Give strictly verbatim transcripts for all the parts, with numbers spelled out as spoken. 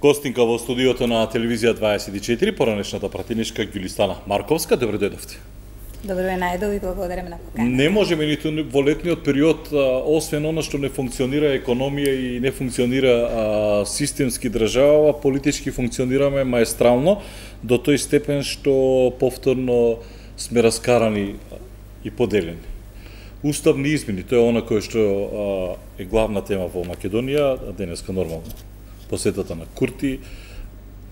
Гостинка во студиото на телевизија дваесет и четири, поранешната пратеничка Ѓулистана Марковска. Добро дојдовте. Добро е најдов и благодарам на поканата. Не можеме ниту во летниот период, освен она што не функционира економија и не функционира а, системски држава, политички функционираме маестрално до тој степен што повторно сме раскарани и поделени. Уставни измени, тоа е она кое што а, е главна тема во Македонија, денеска нормално. Посетата на Курти,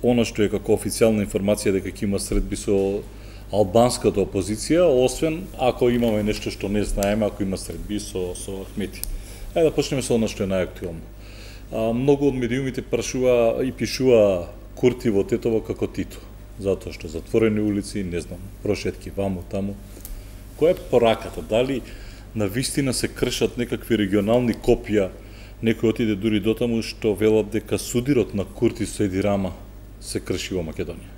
она што е како официјална информација дека ќе има средби со албанската опозиција, освен ако имаме нешто што не знаеме, ако има средби со, со Ахмети. Ајде да почнеме со она што е најактуелно. Многу од медиумите прашува и пишува Курти во Тетово како Тито, затоа што затворени улици, не знам, прошетки ваму, таму. Која е пораката? Дали на вистина се кршат некакви регионални копија? Некој отиде дури до таму што велат дека судирот на Курти со Еди Рама се крши во Македонија.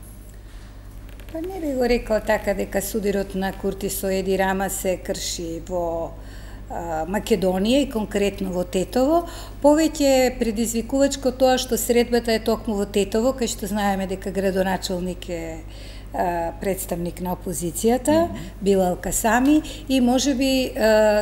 Па не би го рекол така дека судирот на Курти со Еди Рама се крши во а, Македонија и конкретно во Тетово. Повеќе предизвикувачко тоа што средбата е токму во Тетово, кај што знаеме дека градоначелник е представник на опозицијата, mm -hmm. Билал Касами, и можеби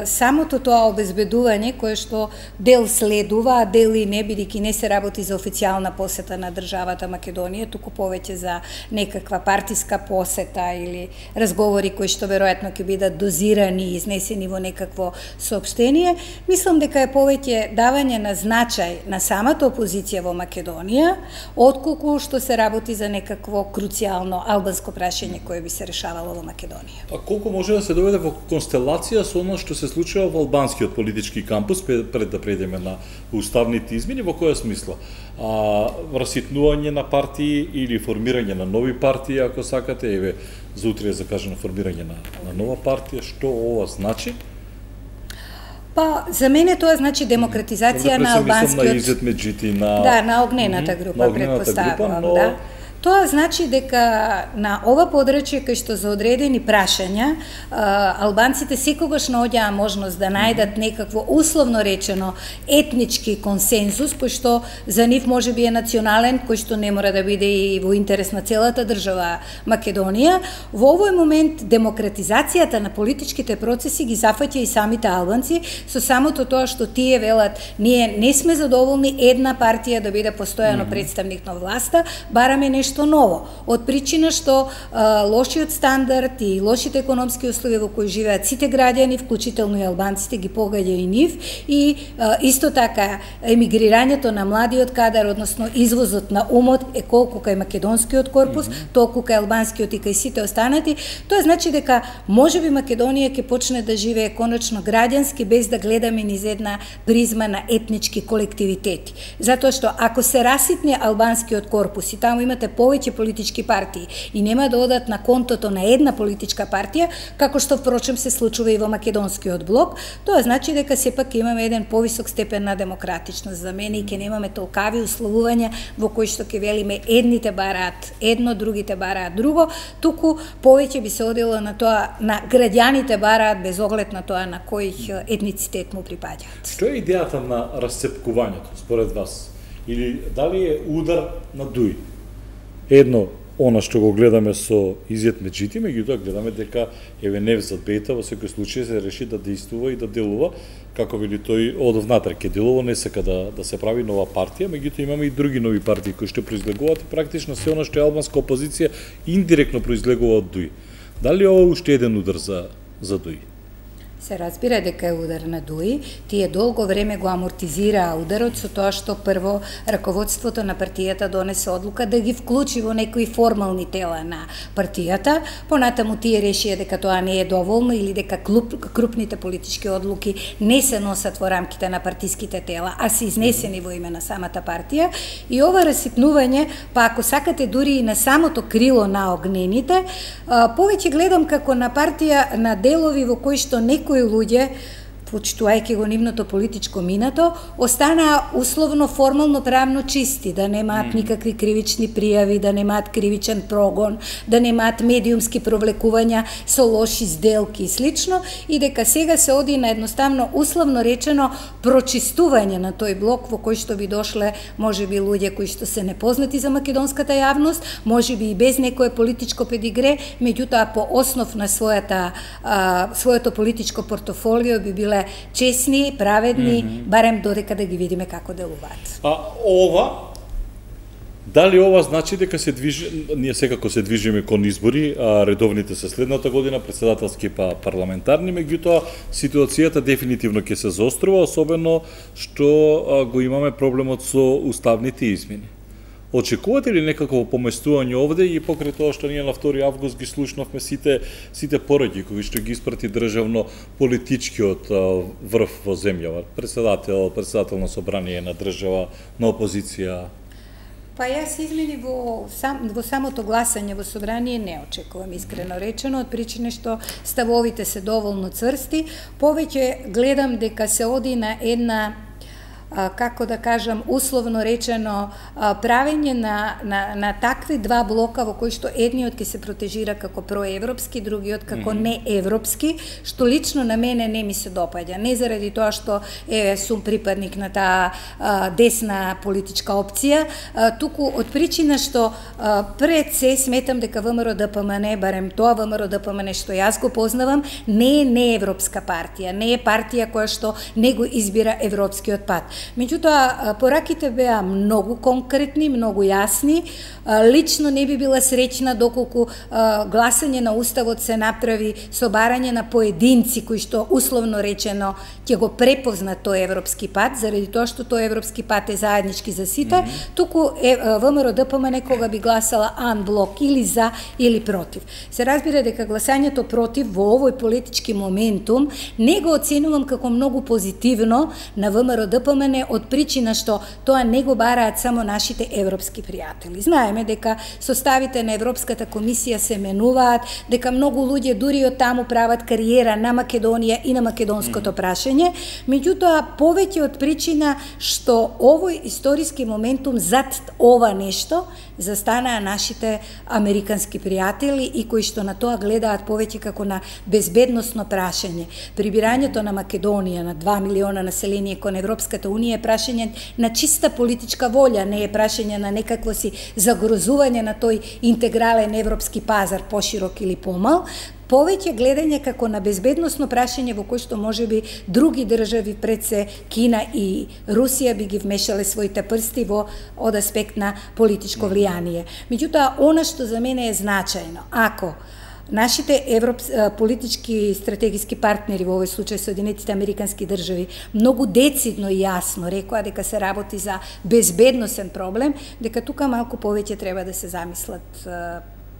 самото тоа обезбедување кое што дел следува, а дел и не, бидејќи не се работи за официјална посета на државата Македонија, туку повеќе за некаква партиска посета или разговори кои што веројатно ќе бидат дозирани и изнесени во некакво соопштение. Мислам дека е повеќе давање на значај на самата опозиција во Македонија, отколку што се работи за некакво круцијално албанско прашање кое би се решавало во Македонија. А колку може да се доведе во констелација со оно што се случува во албанскиот политички кампус пред да прејдеме на уставните измени, во која смисла? А, раситнување на партии или формирање на нови партии, ако сакате, еве за утре е закажано формирање на, на нова партија, што ова значи? Па, за мене тоа значи демократизација на албанскиот... На Изет Меджити, на... Да, на огнената група, предпоставувам, но... да. Тоа значи дека на ова подрачје кај што за одредени прашања албанците секогаш наоѓаа можност да најдат некакво условно речено етнички консензус кој што за нив можеби е национален, кој што не мора да биде и во интерес на целата држава Македонија. Во овој момент демократизацијата на политичките процеси ги зафаќа и самите албанци со самото тоа што тие велат ние не сме задоволни една партија да биде постојано представник на власта, бараме нешто што ново, од причина што а, лошиот стандард и лошите економски услови во кои живеат сите граѓани, вклучително и албанците, ги погаѓа и нив, и а, исто така емигрирањето на младиот кадар, односно извозот на умот е колку кај македонскиот корпус, mm -hmm. толку кај албанскиот и кај сите останати. Тоа значи дека можеби Македонија ќе почне да живее конечно граѓански без да гледаме низ една призма на етнички колективитети. Затоа што ако се раситне албанскиот корпус и таму имате повеќе политички партии и нема да одат на контото на една политичка партија, како што впрочем се случува и во македонскиот блок, тоа значи дека сепак имаме еден повисок степен на демократичност за мене и ќе немаме толкави условувања во кои што ќе велиме едните бараат едно, другите бараат друго, туку повеќе би се одело на тоа на граѓаните бараат без оглед на тоа на кој етницитет му припаѓаат. Што е идејата на расцепкувањето според вас? Или дали е удар на дуј? Едно, она што го гледаме со Изет Меджити, меѓутоа гледаме дека еве Невзат Бејта во секој случај се реши да действува и да делува, како вели тој, од внатре ќе делува, не сака да, да се прави нова партија, меѓутоа имаме и други нови партии кои што произлегуваат и практично се она што е албанска опозиција индиректно произлегува од дуј. Дали ова уште еден удар за, за дуј? Се разбира дека е удар на дуј, тие долго време го амортизираа ударот со тоа што прво раководството на партијата донесе одлука да ги вклучи во некои формални тела на партијата, понатаму тие решија дека тоа не е доволно или дека клуб, крупните политички одлуки не се носат во рамките на партиските тела, а се изнесени во име на самата партија, и ова раситнување, па ако сакате дури и на самото крило на огнените, повеќе гледам како на партија на делови во кои што некои луѓе почитувајќи го нивното политичко минато, останаа условно формално правно чисти, да немаат никакви кривични пријави, да немаат кривичен прогон, да немаат медиумски провлекувања со лоши сделки и слично, и дека сега се оди на едноставно условно речено прочистување на тој блок во кој што би дошле можеби луѓе кои што се непознати за македонската јавност, можеби и без некое политичко педигре, меѓутоа по основ на својата а, своето политичко портофолио би биле честни, праведни, mm -hmm. барем додека да ги видиме како делуваат. А ова, дали ова значи дека се движи, ние секако се движиме кон избори, а редовните се следната година, председателски па парламентарни, меѓутоа ситуацијата дефинитивно ќе се заострува, особено што а, го имаме проблемот со уставните измени. Очекувате ли некакво поместување овде и покрај тоа што ние на втори август ги слушнавме сите сите пораки кои што ги испрати државно политичкиот врв во земјава, председател, председател на собрание на држава, на опозиција? Па јас измени во, сам, во самото гласање во собрание не очекувам, искрено речено, од причина што ставовите се доволно цврсти. Повеќе гледам дека се оди на една, како да кажам, условно речено, правење на, на, на такви два блока во кои што едниот ќе се протежира како проевропски, другиот како mm -hmm. неевропски, што лично на мене не ми се допаѓа. Не заради тоа што е, сум припадник на таа а, десна политичка опција, а, туку од причина што а, пред се сметам дека ВМРО ДПМН, барем тоа ВМРО ДПМН што јас го познавам, не е неевропска партија, не е партија која што не го избира европскиот пат. Меѓутоа, пораките беа многу конкретни, многу јасни. Лично не би била среќна доколку гласање на Уставот се направи со барање на поединци кои што условно речено ќе го препознат тој европски пат, заради тоа што тој европски пат е заеднички за сите, mm -hmm. туку е, ВМРО ДПМН кога би гласала анблок или за или против. Се разбира дека гласањето против во овој политички моментум не го оценувам како многу позитивно на ВМРО ДПМН од причина што тоа не го бараат само нашите европски пријатели. Знаеме дека составите на Европската комисија се менуваат, дека многу луѓе дури од таму прават кариера на Македонија и на македонското прашање, меѓутоа повеќе од причина што овој историски моментум зад ова нешто застанаа нашите американски пријатели и кои што на тоа гледаат повеќе како на безбедносно прашање. Прибирањето на Македонија на два милиона население кон Европската унија е прашање на чиста политичка волја, не е прашање на некакво си загрозување на тој интегрален европски пазар, поширок или помал, повеќе гледање како на безбедносно прашање во кој што можеби други држави пред се Кина и Русија би ги вмешале своите прсти во од аспект на политичко влијание. Меѓутоа, она што за мене е значајно, ако нашите европ... политички стратегиски партнери, во овој случај Соединетите американски држави, многу децидно и јасно рекоа дека се работи за безбедносен проблем, дека тука малку повеќе треба да се замислат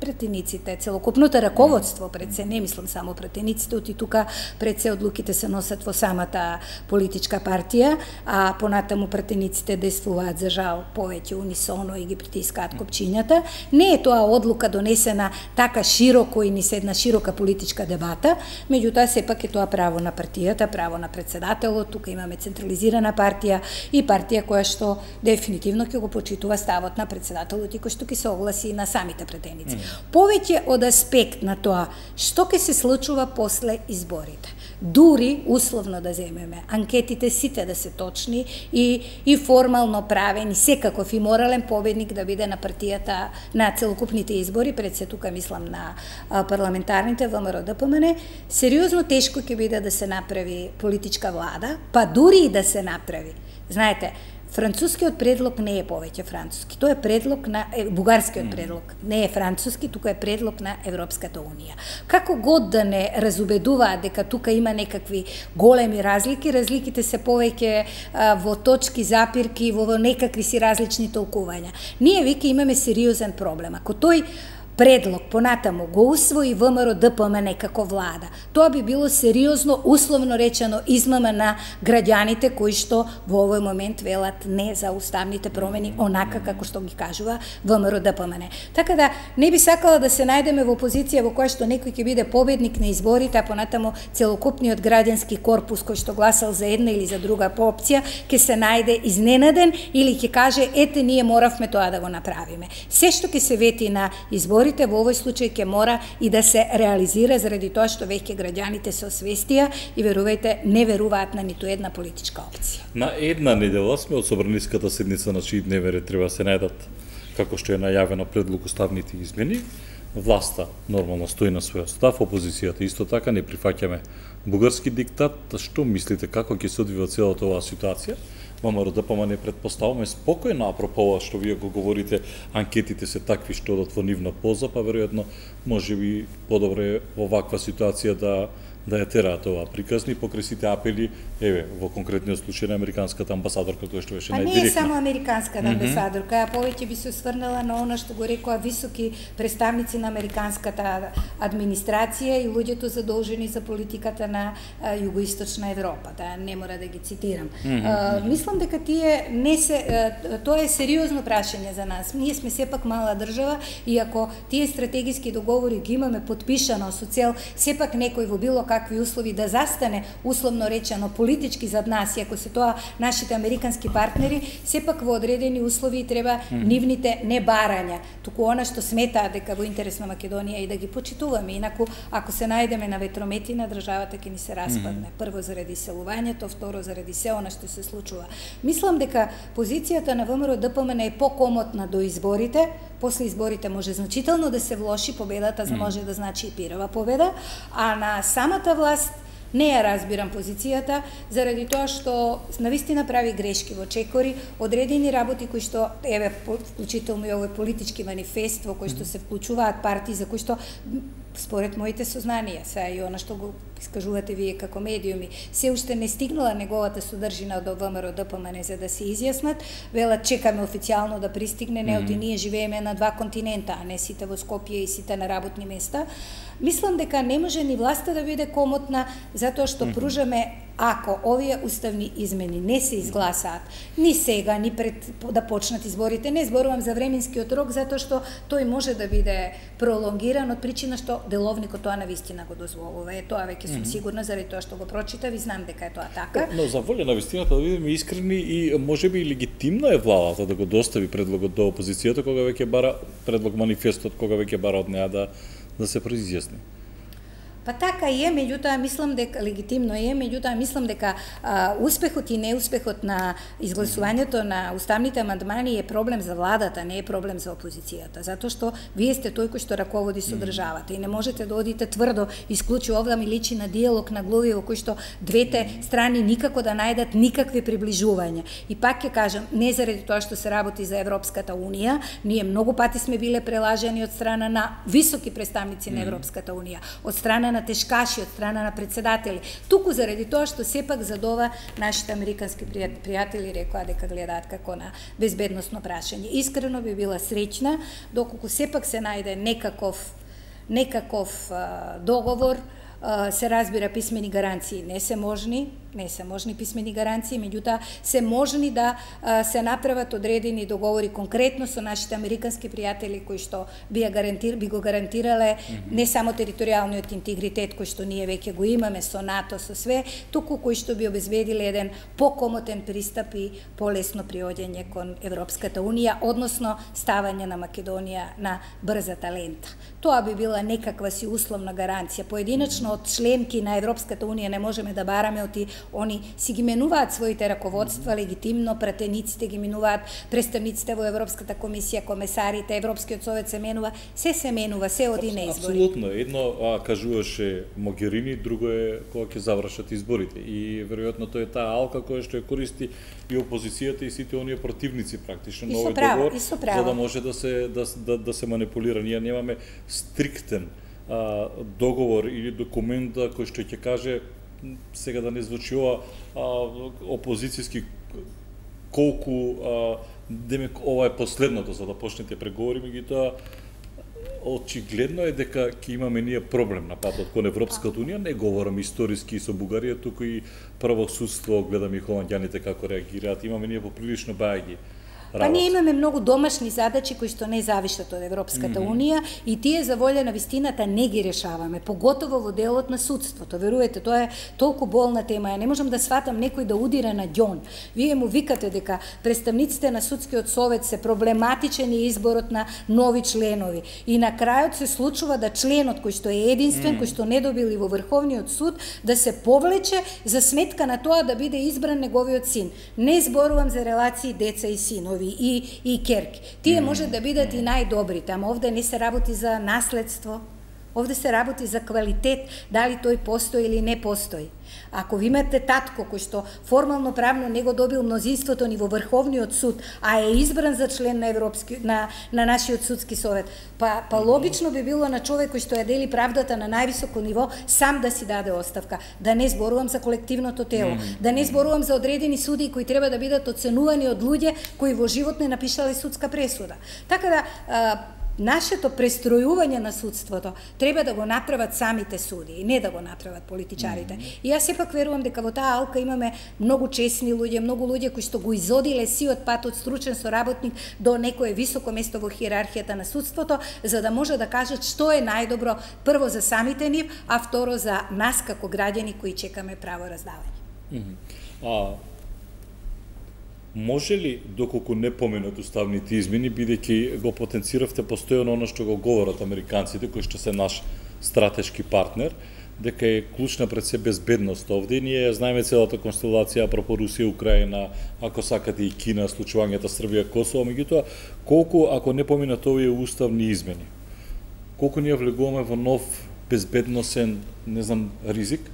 пратениците, целокупното раководство пред се, не мислам само пратениците, оти тука пред се одлуките се носат во самата политичка партија, а понатаму пратениците действуваат за жал повеќе унисоно и ги притискаат копчињата. Не е тоа одлука донесена така широко и ни се една широка политичка дебата, меѓутоа сепак е тоа право на партијата, право на председателот, тука имаме централизирана партија и партија која што дефинитивно ќе го почитува ставот на председателот и кој што ќе се огласи на самите пратеници. Повеќе од аспект на тоа што ќе се случува после изборите. Дури, условно да земеме, анкетите сите да се точни и, и формално правени, секаков и морален победник да биде на партијата на целокупните избори, пред се тука мислам на а, парламентарните ВМРО ДПМН, сериозно тешко ќе биде да се направи политичка влада, па дури и да се направи. Знаете, францускиот предлог не е повеќе француски. Тоа е предлог на е, бугарскиот предлог. Не е француски, тука е предлог на Европската унија. Како год да не разубедуваат дека тука има некакви големи разлики, разликите се повеќе а, во точки, запирки, во, во некакви си различни толкувања. Ние веќе имаме сериозен проблем. Ако тој предлог понатаму го усвои ВМРО Д П М Н како влада, тоа би било сериозно, условно речено, измама на граѓаните кои што во овој момент велат не за уставните промени онака како што ги кажува ВМРО Д П М Н. Така да не би сакала да се најдеме во позиција во која што некој ќе биде победник на изборите, а понатаму целокупниот граѓански корпус кој што гласал за една или за друга опција ќе се најде изненаден или ќе каже ете ние моравме тоа да го направиме. Се што ќе се вети на изборите во овој случај ќе мора и да се реализира заради тоа што веќе граѓаните се освестија и верувајте не веруваат на ниту една политичка опција. На една недела сме од собраниската седница на чии дневен ред треба се најдат, како што е најавено, предлог уставните измени. Власта нормално стои на својот став, опозицијата исто така, не прифаќаме бугарски диктат. Што мислите, како ќе се одвива целата оваа ситуација? ВМРО Д П М Н претпоставуваме спокојно, апропо ова што вие го говорите, анкетите се такви што одат во нивна полза, па веројатно може би подобре во ваква ситуација да да ја тераат ова приказни покрај сите апели, еве, во конкретниот случај на американската амбасадорка која што беше најдиректна. А не е само американската амбасадорка, ја повеќе би се осврнала на она што го рекоа високи представници на американската администрација и луѓето задолжени за политиката на а, Југоисточна Европа, да не мора да ги цитирам. Mm -hmm. а, мислам дека тие не се а, тоа е сериозно прашање за нас. Ние сме сепак мала држава и ако тие стратегиски договори ги имаме подпишано со цел сепак некој во било какви услови да застане, условно речено, политички зад нас, и ако се тоа нашите американски партнери, сепак во одредени услови треба mm -hmm. нивните не барања, туку она што сметаат дека во интерес на Македонија и да ги почитуваме. Инаку, ако се најдеме на ветрометина, државата ќе ни се распадне. Mm -hmm. Прво заради селувањето, второ заради се она што се случува. Мислам дека позицијата на ВМРО Д П М Н е покомотна до изборите. После изборите може значително да се влоши, победата за може да значи и пирава победа, а на самата власт не ја разбирам позицијата, заради тоа што навистина прави грешки во чекори, одредени работи кои што, еве, вклучително и овој политички манифест во кој што се вклучуваат партии за кои што според моите сознанија, сега и она што го искажувате вие како медиуми, се уште не стигнала неговата содржина до ВМРО Д П М Н за да се изјаснат, велат чекаме официјално да пристигне, не оти ние живееме на два континента, а не сите во Скопје и сите на работни места. Мислам дека не може ни власта да биде комотна затоа што пружаме, ако овие уставни измени не се изгласаат ни сега, ни пред да почнат изборите, не зборувам за временскиот рок затоа што тој може да биде пролонгиран од причина што деловникот тоа навистина го дозволува. Е тоа веќе сум сигурна заради тоа што го прочитав и знам дека е тоа така. Но за волја на вистината да бидеме искрени и можеби легитимно е владата да го достави предлогот до опозицијата кога веќе бара предлог манифестот, кога веќе бара од неа да да се произјасни. Па така е, меѓутоа мислам дека легитимно е, меѓутоа мислам дека а, успехот и неуспехот на изгласувањето на уставните амандмани е проблем за владата, не е проблем за опозицијата, затоа што вие сте тој кој што раководи со државата и не можете да одите тврдо, исклучи овда ми личи на диалог на глави во кој што двете страни никако да најдат никакви приближувања. И пак ќе кажам, не заради тоа што се работи за Европската унија, ние многу пати сме биле прелажани од страна на високи представници на Европската унија, од страна на тешкаши, од страна на председатели, туку заради тоа што сепак за ова нашите американски пријатели рекоа дека гледаат како на безбедносно прашање. Искрено би била среќна доколку сепак се најде некаков некаков а, договор, а, се разбира писмени гаранции не се можни, не се можни писмени гаранции, меѓутоа се можни да а, се направат одредени договори конкретно со нашите американски пријатели кои што би, гарантир, би го гарантирале mm -hmm. не само територијалниот интегритет кој што ние веќе го имаме со НАТО, со све, туку кои што би обезбедиле еден покомотен пристап и полесно приоѓање кон Европската унија, односно ставање на Македонија на брзата лента. Тоа би била некаква си условна гаранција. Поединачно од членки на Европската унија не можеме да бараме оти. Они си ги менуваат своите раководства легитимно, пратениците ги менуваат, представниците во Европската комисија, комесарите, Европскиот совет се менува, се се менува, се оди на избори. Апсолутно, едно а, кажуваше Могерини, друго е кога ќе завршат изборите. И веројатно тоа е таа алка која што ја користи и опозицијата и сите оние противници практично на овој договор, за да може да се да, да, да се манипулира. Ние немаме стриктен а, договор или документ кој што ќе каже сега да не звучи ова опозицијски колку а, демек ова е последното за да почнете преговори, меѓутоа очигледно е дека ќе имаме ние проблем на патот кон Европската унија, не говорам историски со Бугарија, туку и правосудство, гледам и холандјаните како реагираат, имаме ние поприлично бајаги. Па ние имаме многу домашни задачи кои што не завишат од Европската mm-hmm. унија и тие за волја на вистината не ги решаваме, поготово во делот на судството. Верувате, тоа е толку болна тема. Ја не можам да сватам некој да удира на ѓон. Вие му викате дека представниците на судскиот совет се проблематичен и изборот на нови членови. И на крајот се случува да членот кој што е единствен, mm. кој што не добили во Врховниот суд, да се повлече за сметка на тоа да биде избран неговиот син. Не зборувам за релации деца и синови и и керки. Тие може да бидат и најдобрите, ама овде не се работи за наследство. Овде се работи за квалитет, дали тој постои или не постои. Ако ви имате татко кој што формално правно не го добил мнозинството ни во Врховниот суд, а е избран за член на Европски на на нашиот судски совет, па па логично би било на човек кој што ја дели правдата на највисоко ниво сам да си даде оставка. Да не зборувам за колективното тело, да не зборувам за одредени судии кои треба да бидат оценувани од луѓе кои во живот не напишале судска пресуда. Така да а, нашето престројување на судството треба да го направат самите судии, не да го направат политичарите. Mm-hmm. И јас сепак верувам дека во таа алка имаме многу чесни луѓе, многу луѓе кои што го изодиле сиот пат од стручен соработник до некое високо место во хиерархијата на судството, за да може да кажат што е најдобро прво за самите нив, а второ за нас како граѓани кои чекаме право раздавање. Mm-hmm. А може ли, доколку не поменат уставните измени, бидејќи го потенциравте постојано оно што го говорат американците, кои што се наш стратешки партнер, дека е клучна пред се безбедност овде. Ние знаеме целата констелација апропо Русија, Украина, ако сакате и Кина, случувањата Србија, Косово, меѓутоа, колку, ако не поминат овие уставни измени, колку ние влегуваме во нов безбедносен, не знам, ризик?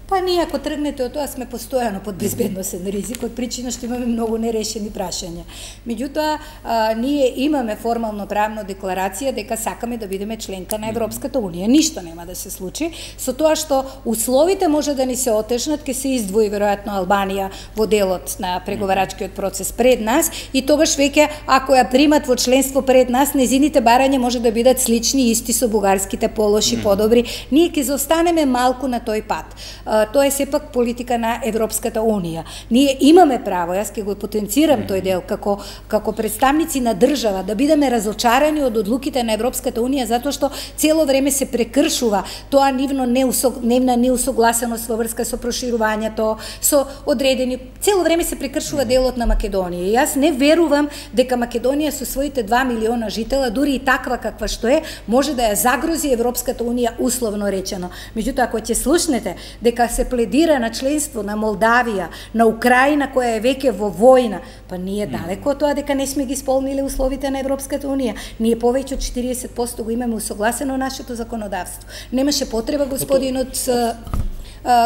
Па ние ако тргнете од тоа сме постојано под безбедносен ризик, од причина што имаме многу нерешени прашања. Меѓутоа, а, ние имаме формално правно декларација дека сакаме да бидеме членка на Европската унија. Ништо нема да се случи со тоа што условите може да ни се отежнат, ќе се издвои веројатно Албанија во делот на преговарачкиот процес пред нас и тогаш веќе ако ја примат во членство пред нас, незините барања може да бидат слични исти со бугарските полоши подобри. Ние ќе заостанеме малку на тој пат. Тоа е сепак политика на Европската унија. Ние имаме право, јас ќе го потенцирам тој дел како како представници на држава да бидеме разочарани од одлуките на Европската унија затоа што цело време се прекршува тоа нивно неусог, нивна неусогласеност во врска со проширувањето, со одредени, цело време се прекршува делот на Македонија. И јас не верувам дека Македонија со своите два милиона житела, дури и таква каква што е, може да ја загрози Европската унија условно речено. Меѓутоа ако ќе слушнете дека се пледира на членство на Молдавија, на Украина која е веќе во војна, па ние далеко од тоа дека не сме ги исполниле условите на Европската унија. Ние повеќе од четириесет проценти го имаме усогласено нашето законодавство. Немаше потреба господинот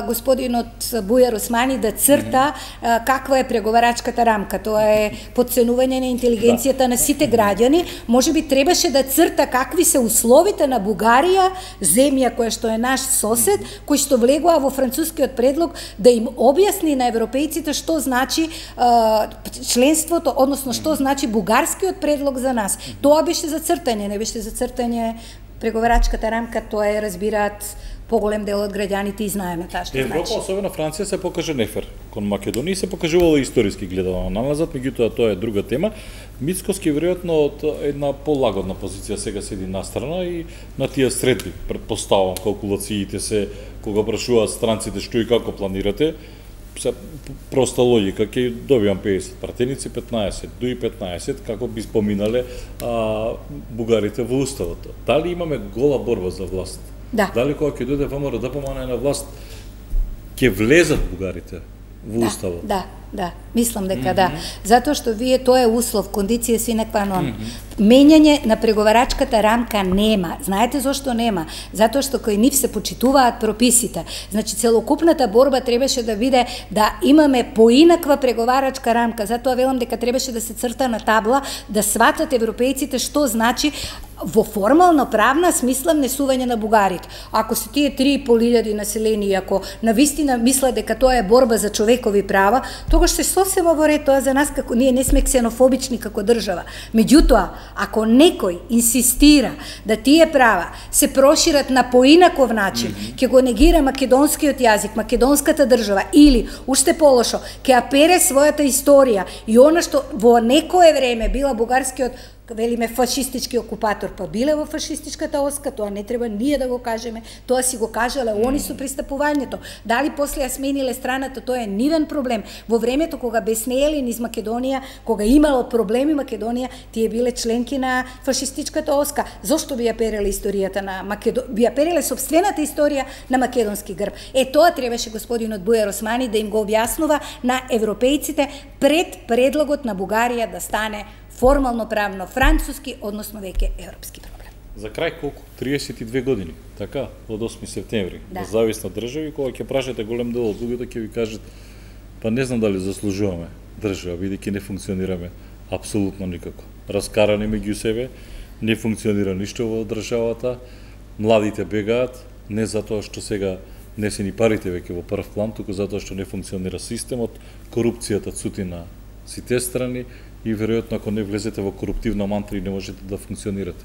господинот Бујар Османи да црта mm-hmm. каква е преговарачката рамка. Тоа е подценување на интелигенцијата на сите граѓани. Може би требаше да црта какви се условите на Бугарија, земја која што е наш сосед, кој што влегува во францускиот предлог, да им објасни на европејците што значи а, членството, односно што значи бугарскиот предлог за нас. Тоа беше за цртање, не беше за цртање преговарачката рамка, тоа е разбираат поголем дел од граѓаните и знаеме таа што Европа, значи. особено Франција, се покажа нефер кон Македонија и се покажувала историски гледано налазат, меѓутоа тоа е друга тема. Мицкоски веројатно од една полагодна позиција сега седи настрана и на тие средби, претпоставувам, калкулациите се кога прашуваат странците што и како планирате, се проста логика, ќе добивам педесет пратеници, петнаесет, дуи петнаесет, како би споминале а, бугарите во уставот. Дали имаме гола борба за власт? Да. Дали кога ќе дојде ВМРО да помане на власт, ќе влезат бугарите во уставот? Да, да, мислам дека mm-hmm. да. Затоа што вие тоа е услов, кондиција sine qua non. Mm-hmm. Менјање на преговарачката рамка нема. Знаете зошто нема? Затоа што кои нив се почитуваат прописите. Значи целокупната борба требаше да биде да имаме поинаква преговарачка рамка. Затоа велам дека требаше да се црта на табла, да сватат европејците што значи во формално правна смисла внесување на бугарите. Ако се тие три и пол илјади населени, ако навистина мислат дека тоа е борба за човекови права, тогаш се сосема во ред, тоа за нас како ние не сме ксенофобични како држава. Меѓутоа, ако некој инсистира да тие права се прошират на поинаков начин, ќе го негира македонскиот јазик, македонската држава или уште полошо, ќе апере својата историја и она што во некое време била бугарскиот, велиме, фашистички окупатор, па биле во фашистичката оска, тоа не треба ние да го кажеме, тоа си го кажале они со пристапувањето. Дали после ја смениле страната, тоа е нивен проблем. Во времето кога беснеели низ Македонија, кога имало проблеми Македонија, тие биле членки на фашистичката оска. Зошто би ја переле историјата на Македонија, би ја переле сопствената историја на македонски грб? Е, тоа требаше господинот Бујар Османи да им го објаснува на европејците пред предлогот на Бугарија да стане формално правно француски, односно веќе европски проблем. За крај колку? триесет и две години, така? Од осми септември. Да. Независна држава, кога ќе прашате голем дел од луѓето ќе ви кажат па не знам дали заслужуваме држава, бидејќи не функционираме апсолутно никако. Раскарани меѓу себе, не функционира ништо во државата, младите бегаат, не затоа што сега не се ни парите веќе во прв план, туку затоа што не функционира системот, корупцијата цути на сите страни, и веројатно ако не влезете во коруптивна мантра и не можете да функционирате.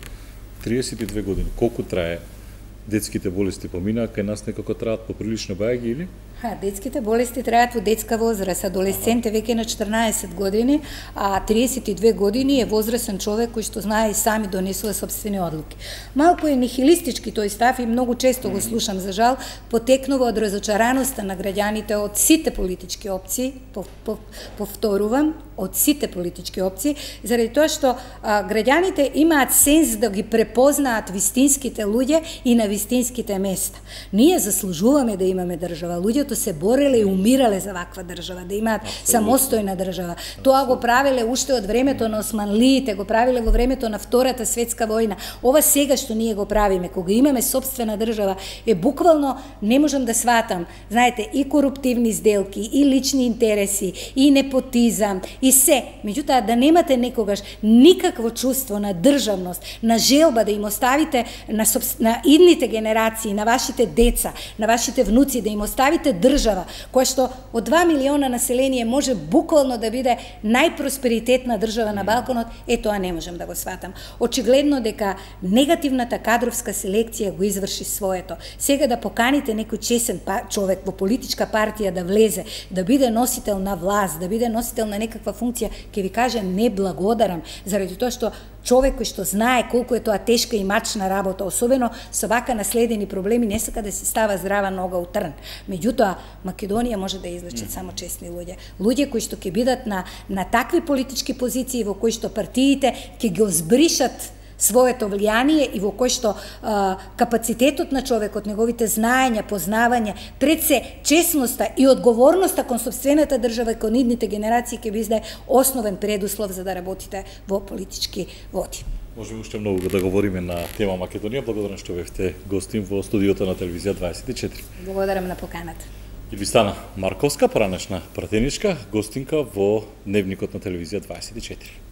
триесет и две години. Колку трае? Детските болести поминаа, кај нас некако траат поприлично бајаги или? Ха, детските болести траат во детска возраст, адолесцент е веќе на четрнаесет години, а триесет и две години е возрастен човек кој што знае и сами донесува собствени одлуки. Малку е нихилистички тој став и многу често го слушам, за жал, потекнува од разочараноста на граѓаните од сите политички опции, повторувам, од сите политички опции, заради тоа што а, граѓаните имаат сенс да ги препознаат вистинските луѓе и на вистинските места. Ние заслужуваме да имаме држава. Луѓето се бореле и умирале за ваква држава, да имаат самостојна држава. Тоа го правеле уште од времето на османлиите, го правиле во времето на Втората светска војна. Ова сега што ние го правиме, кога имаме собствена држава, е буквално, не можам да сватам, знаете, и коруптивни сделки, и лични интереси, и непотизам, и се. Меѓутоа, да немате некогаш никакво чувство на државност, на желба да им оставите на, на идните генерации, на вашите деца, на вашите внуци, да им оставите држава, која што од два милиона население може буквално да биде најпросперитетна држава на Балканот, е тоа не можам да го сватам. Очигледно дека негативната кадровска селекција го изврши своето. Сега да поканите некој чесен човек во политичка партија да влезе, да биде носител на власт, да биде носител на некаква функција, ќе ви каже не благодарам, заради тоа што човек кој што знае колку е тоа тешка и мачна работа, особено со вака наследени проблеми, не сака да се става здрава нога у трн. Меѓутоа, Македонија може да излечат само честни луѓе. Луѓе кои што ќе бидат на, на такви политички позиции во кои што партиите ќе ги озбришат своето влијание и во кој што а, капацитетот на човекот, неговите знаења, познавања, пред се честноста и одговорноста кон собствената држава и кон идните генерации ќе биде основен предуслов за да работите во политички води. Можеме уште многу да говориме на тема Македонија. Благодарам што бевте гостин во студиото на телевизија дваесет и четири. Благодарам на поканата. Илвистана Марковска, поранешна пратеничка, гостинка во Дневникот на телевизија дваесет и четири.